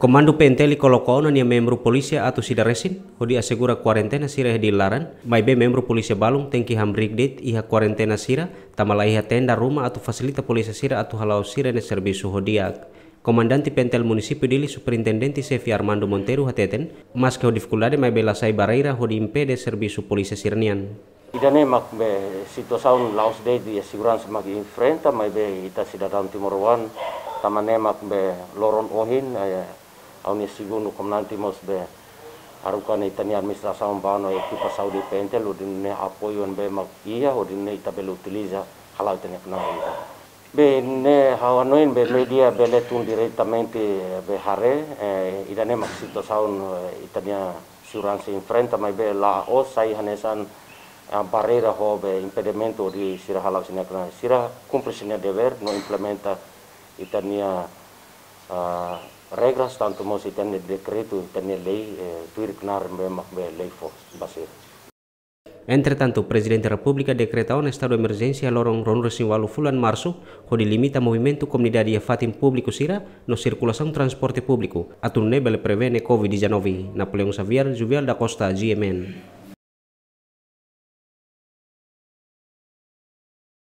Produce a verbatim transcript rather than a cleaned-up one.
Komandu P N T L koloka ona nia membru polísia atus ida resin, hodi asegura kuarentena sira iha Dili laran, maibé membru polísia balun tenke hamriik de'it iha kuarentena sira, tanba laiha tenda ruma atu fasilita polísia sira atu hala'o sira-nia servisu ho di'ak. Komandante P N T L Munisípiu Dili, Superintendente Xefe Armando Monteiro hateten, maske ho difikuldade maibé la sai barreira hodi impede servisu polísia sira-nian. Ida-ne'e mak be situasaun la'ós de'it, seguransa mak enfrenta, maibé ita sidadaun timoroan, tanba ne'e mak be loron ohin, eh, ha'u-nia segundu komandante mós be haruka ona ita-nia administrasaun ba ona ekipa saúde P N T L, hodi nune'e apoiu ne'ebé mak iha, hodi nune'e ita bele utiliza hala'o ita-nia knaar ida. Be ne'e ha'u hanoin be média bele tun diretamente be haree, eh, ida-ne'e mak situasaun, eh, ita-nia seguransa enfrenta, maibé la'ós sai hanesan, ah, barreira ho be impedimentu hodi sira hala'o sira-nia knaar. Sira kumpre sira-nia devér no implementa ita-nia, ah, regras, tantu mós ita-nia dekretu, ita-nia lei, eh, tuir knaar ne'ebé mak be lei fó ba sira. Entretantu, Prezidente Repúblika dekreta ona estadu emerjénsia loron ruanulu-resin-ualu fulan Marsu, hodi limita movimentu komunidade iha fatin públiku sira, no sirkulasaun transporte públiku, atu nune'e bele prevene COVID dezanove. Napoleão Xavier, Juvial da Costa, G M N.